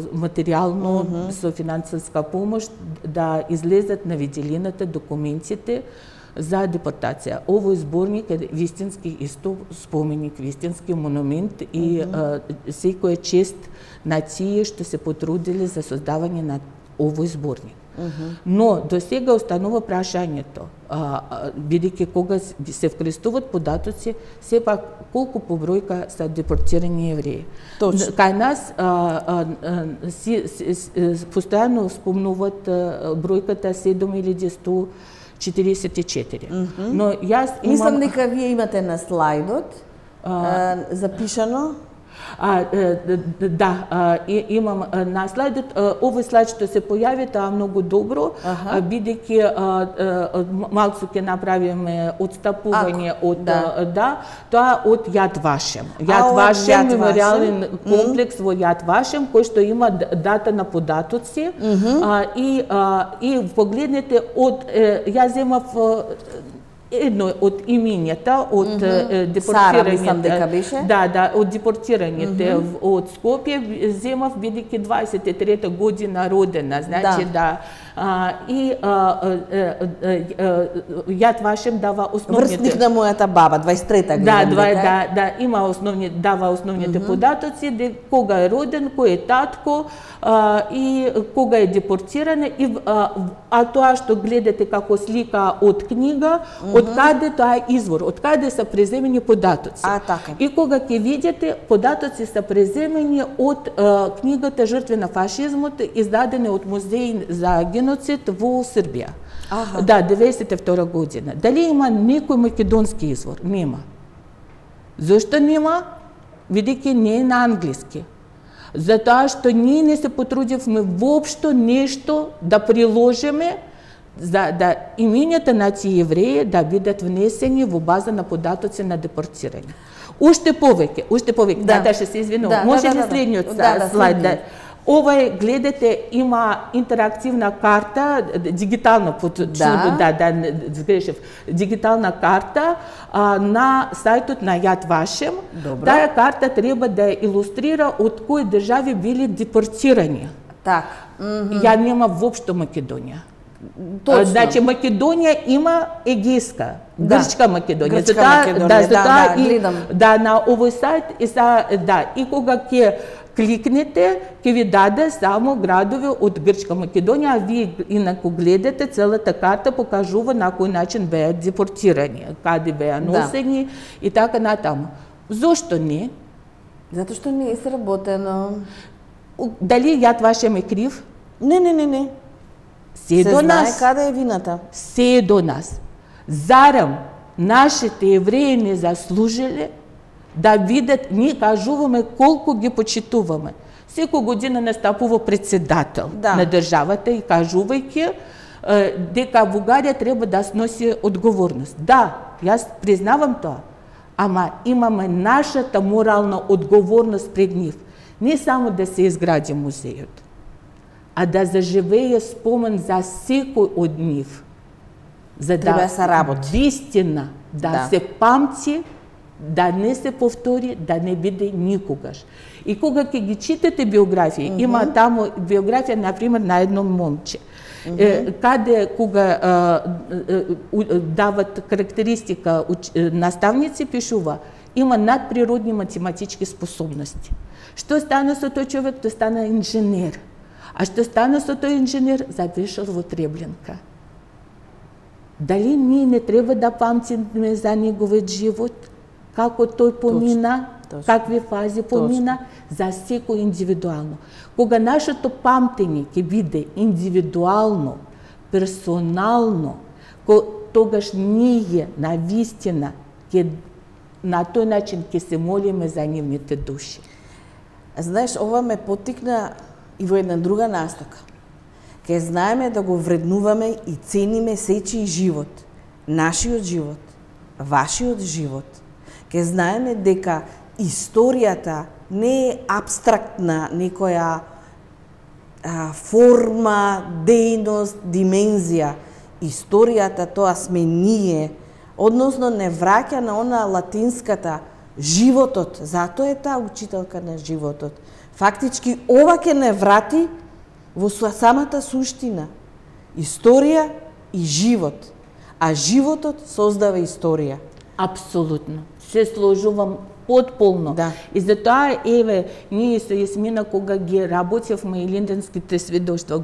материјално со финансиска помош да излезат на виделината документите за депортација. Овој зборник е вистински исто споменик, вистински монумент и секоја чест на тие што се потрудиле за создавање на овој зборник. Но до сега останува прашањето, бидејќи кога се вкрестуват податоци, сепак колку по бројка са депортирани евреи. Кај нас постојано спомнуваат бројката 7144. Но јас мислам дека вие имате на слайдот запишано. Да, имам на слайдот, овој слайд што се појави, тоа многу добро, бидејќи малку ќе направиме отстапување од тоа од Јад Вашем. Јад Вашем, меморијален комплекс во Јад Вашем, кој што има дата на податоци и погледнете од јас земав едно од имињата од депортираните. Да, од депортираните од Скопје земав бидејќи 23-та година родена, значи и Јад Вашем дава основните. Врсник на мојата баба, 23-та година. Да, има дава основните податоци, кога е роден, кој е татко и кога е депортиран, а тоа што гледате како слика од книга, од каде тоа е извор, од каде се преземени податоци. И кога ќе видите, податоци се преземени од книгата Жртви на фашизмот, издадена од Музеј за геноцид во Србија. Да, 92 година. Дали има некој македонски извор? Нема. Зошто нема? Бидејќи не е на англиски. Затоа што ние не се потрудивме воопшто нешто да приложиме за да имињата на тие евреи да бидат внесени во база на податоци на депортирање. Уште повеќе, да се извинувам. Може ли следниот слайд? Ова гледате, има интерактивна карта, дигитална дигитална карта на сајтот на Јад Вашем. Таа карта треба да илустрира од кои држави били депортирани. Ја нема воопшто Македонија. Значи Македонија има Егејска, Грчка Македонија. Да, на овој сајт и кога ќе кликнете, ќе ви даде само градови од Грчка Македонија, а вие инаку гледате целата карта покажува на кој начин беа депортирани, каде беа носени и така натаму. Зошто не? Затоа што не е сработено. Дали Јад Вашем е крив? Не. се до нас. Се знае каде е вината. Се до нас. Зарем нашите евреи не заслужиле да видат, ние кажуваме колку ги почитуваме. Секој година настапува председател на државата и кажувајќи дека Бугарија треба да сноси одговорност. Да, јас признавам тоа, ама имаме нашата морална одговорност пред нив. Не само да се изгради музејот, а да заживее спомен за секој од нив. За да се работи. Вистина, да се памти, да не се повтори, да не биде никогаш. И кога ќе ги читате биографии, има таму биографија, например, на едно момче, каде кога дават карактеристика наставници, пишува, има надприродни математички способности. Што стана со тој човек? Тој стана инженер. А што стана со тој инженер? Завишал во Требленка. Дали ние не треба да памтиме за неговиот живот? Како тој помина? Какви фази помина? За секој индивидуално. Кога нашето памтење ќе биде индивидуално, персонално, тогаш ние на вистина на тој начин ќе се молиме за нивните души. Знаеш, ова ме поттикна и во една друга настока. Ке знаеме да го вреднуваме и цениме сечи живот, нашиот живот, вашиот живот. Ке знаеме дека историјата не е абстрактна некоја форма, дејност, димензија. Историјата тоа сме ние, односно не враќа на она латинската животот, затоа е таа учителка на животот. Фактички ова ќе не врати во самата суштина. Историја и живот. А животот создава историја. Апсолутно. Се сложувам потполно. И затоа, еве, ние со Јасмина, кога ги работевме и линденските сведоштва,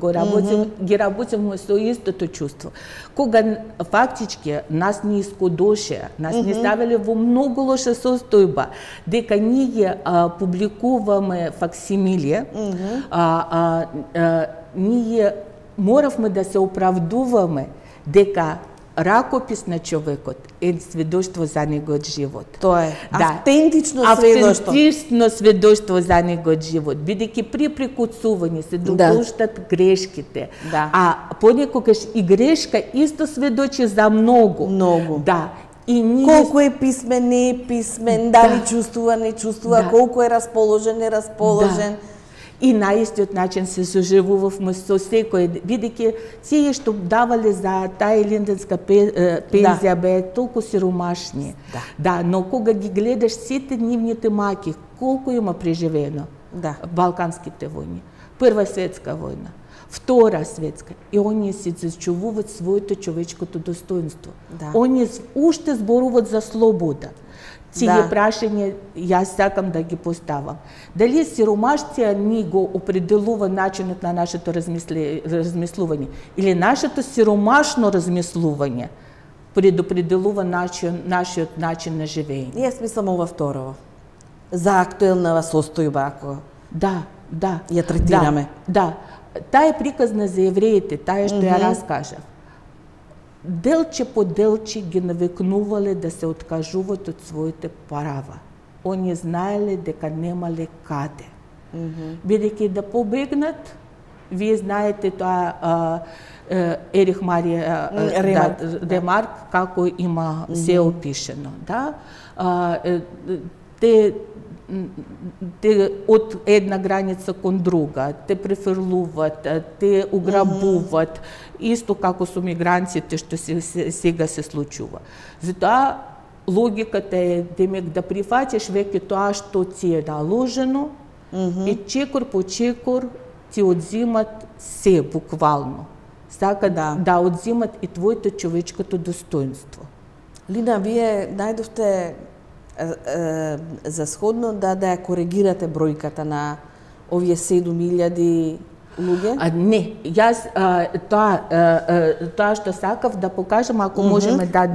ги работевме со истото чувство. Кога фактички нас не искодоше, нас не ставиле во многу лоша состојба, дека ние публикуваме факсимиле, ние моравме да се оправдуваме дека ракопис на човекот е сведоштво за неговиот живот. Тоа е автентично сведоштво. Автентично сведоштво за неговиот живот, бидејќи при прекуцување се допуштат грешките. А понекогаш и грешка исто сведочи за многу. Многу. Да. И ние... Колку е писмен, не е писмен, дали чувствува, не чувствува, колку е расположен, не расположен. И на истиот начин се соживувавме со секој, бидејќи тие што давале за таа линденска пензија беа толку сиромашни. Но кога ги гледаш сите нивните маки, колку има преживено? Балканските војни, Прва светска војна, Втора светска, и оние се зачувуваат своето човечкото достоинство. Оние уште зборуваат за слобода. Тие прашања јас сакам да ги поставам. Дали сиромаштија ни го определува начинот на нашето размислување или нашето сиромашно размислување предопределува нашиот начин на живење? Јас мислам ова второ. За актуелна состојба, ако ја третираме. Таа е приказна за евреите, таа што ја раскажав. Делче по делче ги навекнувале да се откажуваат од своите права. Они знаеле дека немале каде. Бидејќи да побегнат, вие знаете тоа Ерих Марија Ремарк како има се опишено. Те од една граница кон друга, те префрлуваат, те уграбуваат, исто како со мигрантите што сега се случува. Затоа логиката е демек да прифатиш веќе тоа што ти е наложено и чекор по чекор ти одзимат се буквално. Сака да одзимат и твоето човечкото достоинство. Лина, вие најдовте за сходно да ја коригирате бројката на овие 7.000 луѓе? Не, јас тоа што сакав да покажам, ако можеме да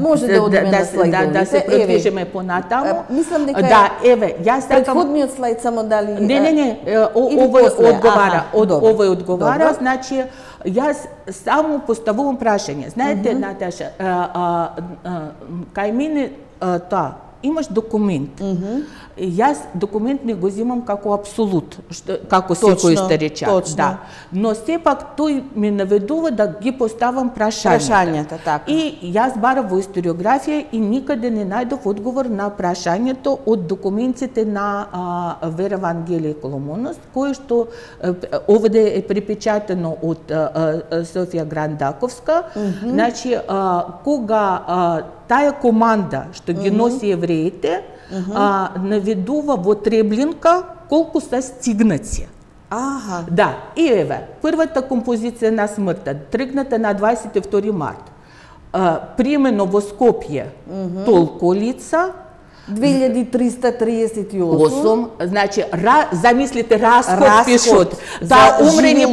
се продвижиме понатаму. Мислам дека јас сакам предходниот слайд само дали Не, овој одговара, значи јас само поставувам прашање. Знаете, Наташа, кај мене тоа имаш документ. Јас документ не го земам како апсолут, како секој историчар, да. Но сепак тој ме наведува да ги поставам прашањата, така. И јас барав во историографија и никаде не најдов одговор на прашањето од документите на Вера Вангелие Коломонос, кој што овде е припечатано од Софија Грандаковска. Значи, кога таа команда што ги носи евреите, наведува во Треблинка колку се стигнати. Да, и еве, првата композиција на смртта, тргната на 22 март. Примено во Скопје толку лица, 2338. Значи, замислите, расход пишут за умрени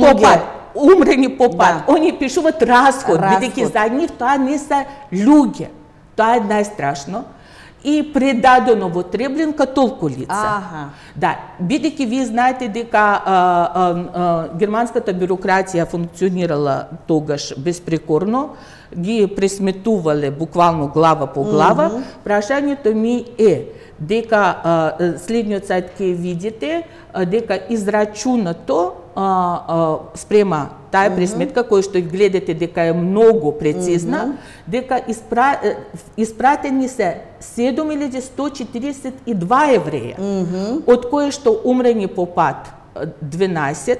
по пат. Они пишуваат расход, бидејќи за нив тоа не се луѓе. Тоа е најстрашно. И предадено во Треблинка толку лица. Да, бидејќи вие знаете дека германската бюрократија функционирала тогаш безпрекорно, ги пресметувале буквално глава по глава, прашањето ми е дека следниот сајт ќе видите дека израчунато спрема таа пресметка која што гледате дека е многу прецизна, дека испратени се 7142 евреја, од кои што умрени по пат 12,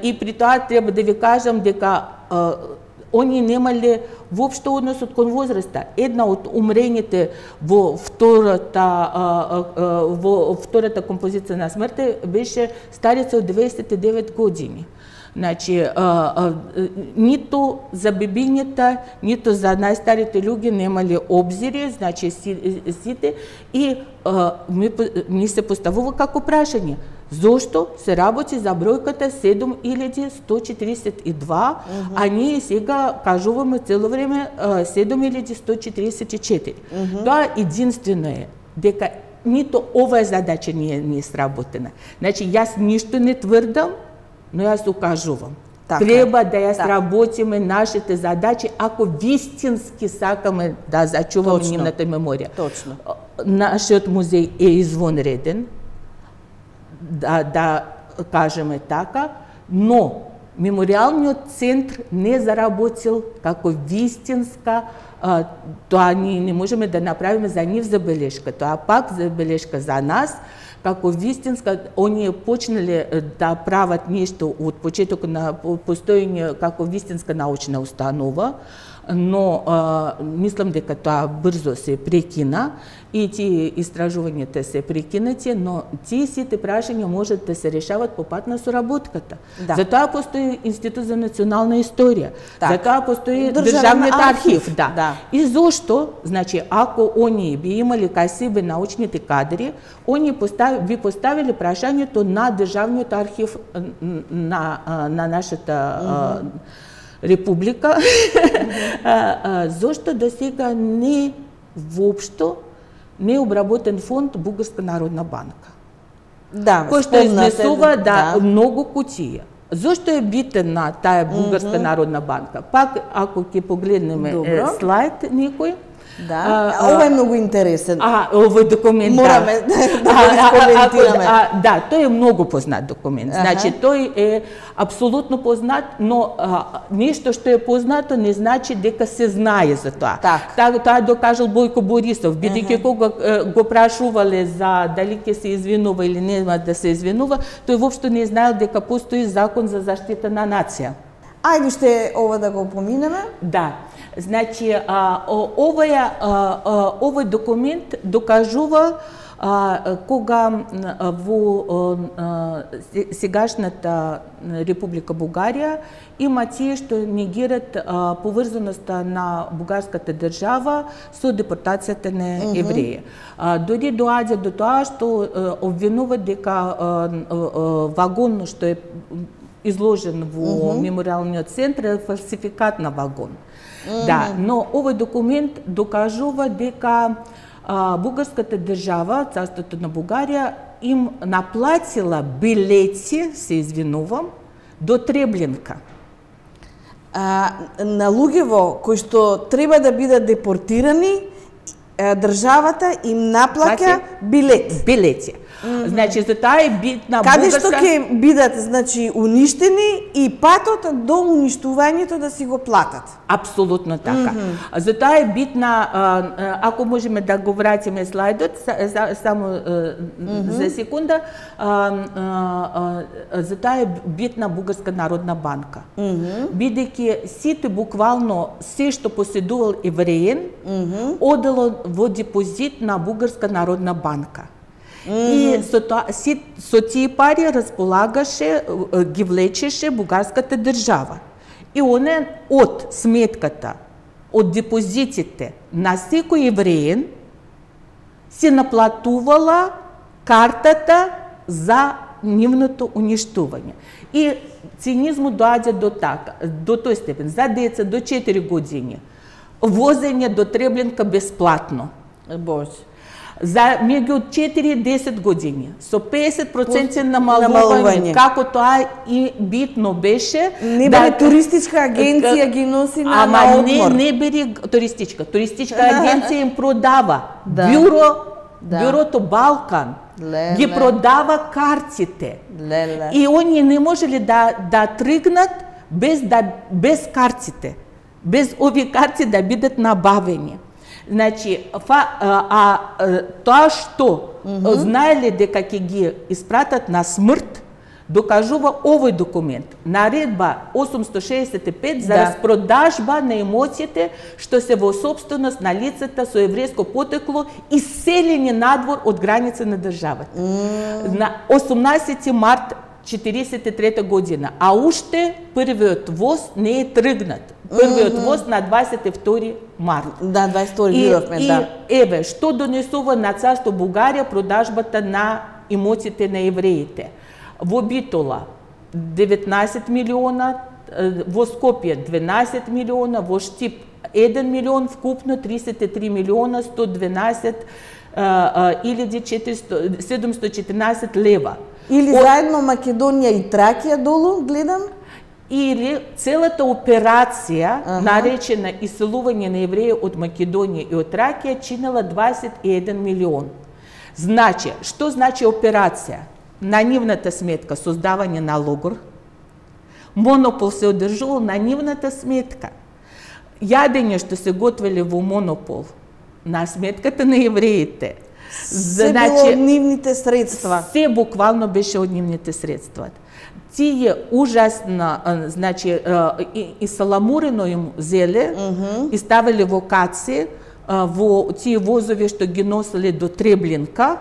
и при тоа треба да ви кажам дека они немале воопшто однос кон возраста. Една од умрените во втората композиција на смртта беше старица од 29 години. Значи, ниту за бебињата, ниту за најстарите луѓе немале обзири, значи сите, и ми се поставува како прашање. Зошто се работи за бројката 7142, а ние сега кажуваме цело време 7144. Тоа единствено е дека нито оваа задача не е сработена. Значи, јас ништо не тврдам, но јас укажувам. Треба да ја сработиме нашите задачи ако вистински сакаме да зачуваме нивната меморија. Нашиот музеј е извонреден, да кажеме така, но меморијалниот центар не заработил како вистинска, тоа ние не можеме да направиме за нив забелешка, тоа пак забелешка за нас, како вистинска, оние почнале да прават нешто од почетокот на постоење како вистинска научна установа, но мислам дека тоа брзо се прекина и тие истражувањата се прекинати, но тие сите прашања можат да се решават по пат на соработката. Затоа постои Институт за национална историја, затоа постои Државниот архив. И зошто, значи, ако они би имали кај себе научните кадри, они би поставили прашањето на Државниот архив на нашата Република, зошто до сега не воопшто не обработен фонд Бугарска народна банка. Кој што изнесува многу кутија. Зошто е битен на таа Бугарска народна банка? Пак, ако ќе погледнеме слайд некој, ова е многу интересен. Овој документ, мораме да го искоментираме. Да, тој е многу познат документ. Значи, тој е апсолутно познат, но нешто што е познато не значи дека се знае за тоа. Тоа докажал Бојко Борисов, бидејќи кога го прашувале за дали ќе се извинува или нема да се извинува, тој воопшто не знаел дека постои закон за заштита на нација. Ајде уште ова да го поминеме. Да. Значи, овој документ докажува кога во сегашната Република Бугарија има тие што негират поврзаноста на бугарската држава со депортацијата на евреи. Дори доаѓа до тоа што обвинуваат дека вагон што е изложен во мемориалниот центар е фалсификат на вагон. Да, но овој документ докажува дека бугарската држава, царството на Бугарија, им наплатила билети, се извинувам, до Требленка. На луѓево кои што треба да бидат депортирани, државата им наплаќа билети. Значи, за таа е битна каде што ќе бидат, значи, уништени и патот до уништувањето да си го платат. Апсолутно така. За таа е битна, ако можеме да го вратиме слайдот, само за секунда, за таа е битна Бугарска народна банка. Бидејќи сите буквално се што поседувал евреин, одело во депозит на Бугарска народна банка. И со тие пари располагаше, ги влечеше бугарската држава. И оне од сметката, од депозитите на секој евреин се наплатувала картата за нивното уништување. И цинизмот доаѓа до тој степен. За деца до 4 години возење до Требленка бесплатно. Боже. За меѓу 4 и 10 години, со 50% намалување, како тоа и битно беше. Не бе туристичка агенција ги носи на одмор. Не бери туристичка. Туристичка агенција им продава. Бюрото Балкан ги продава картите. И они не можеле да тргнат без картите. Без овие карти да бидат набавени. Значи, тоа што знаеле дека ќе ги испратат на смрт, докажува овој документ. Наредба 865 за распродажба на имотите што се во собственост на лицата со еврејско потекло и селени надвор од граница на државата. На 18 март 1943 година, а уште првиот воз не е тргнат. Првиот воз на 22 март. Да, 22 видовме, да. И еве, што донесува на царство Бугарија продажбата на имотите на евреите. Во Битола 19 милиона, во Скопје 12 милиона, во Штип 1 милион, вкупно 33 милиона 112 714 лева. Или заедно Македонија и Тракија долу, гледам? Или целата операција, наречена иселување на евреи од Македонија и од Тракија, чинела 21 милион. Значи, што значи операција? На нивната сметка создавање на логор, монопол се одржувал на нивната сметка. Јадење што се готвеле во монопол на сметката на евреите. Се било од нивните средства. Се буквално беше од нивните средства. Тие ужасно, значи, и саламурено им зеле, и ставеле во каци, во тие возови што ги носеле до Требленка,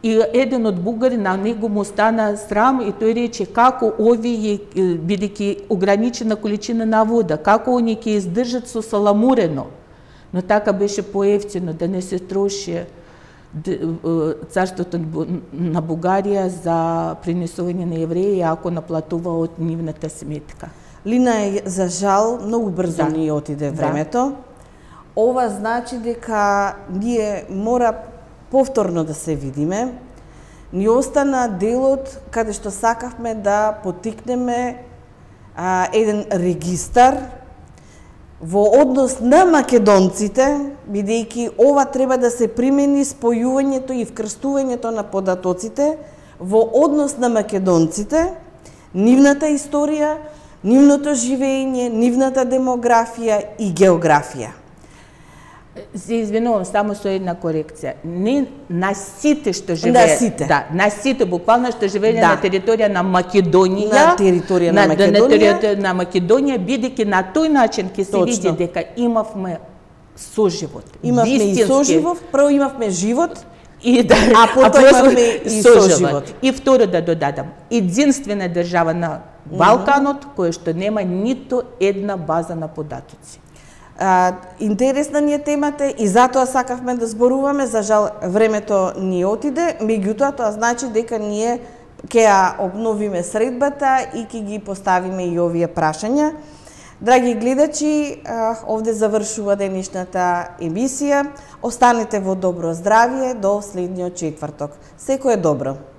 и еден од бугари на него му стана срам и тој рече како овие, бидејќи ограничена количина на вода, како они ќе издржат со саламурено. Но така беше поевтино да не се троши царството на Бугарија за принесување на евреи, ако наплатува од нивната сметка. Лина, за жал, многу брзо ни отиде времето. Ова значи дека ние мора повторно да се видиме. Ни остана делот каде што сакавме да потикнеме еден регистар во однос на македонците, бидејќи ова треба да се примени спојувањето и вкрстувањето на податоците во однос на македонците, нивната историја, нивното живење, нивната демографија и географија. Се извинувам, само со една корекција. Не на сите што живеат. На сите. Да, на сите буквално што живееле на територија на Македонија. На територија на Македонија. На територија на Македонија, бидејќи на тој начин ќе се види дека имавме соживот. Имавме и соживот, прво имавме живот, а потоа имавме и соживот. И второ да додадам, единствена држава на Балканот која што нема ниту една база на податоци. Интересна ни е темата и затоа сакавме да зборуваме, за жал времето ни отиде, меѓутоа тоа значи дека ние ќе ја обновиме средбата и ќе ги поставиме и овие прашања. Драги гледачи, овде завршува денешната емисија. Останете во добро здравје до следниот четврток. Секое добро!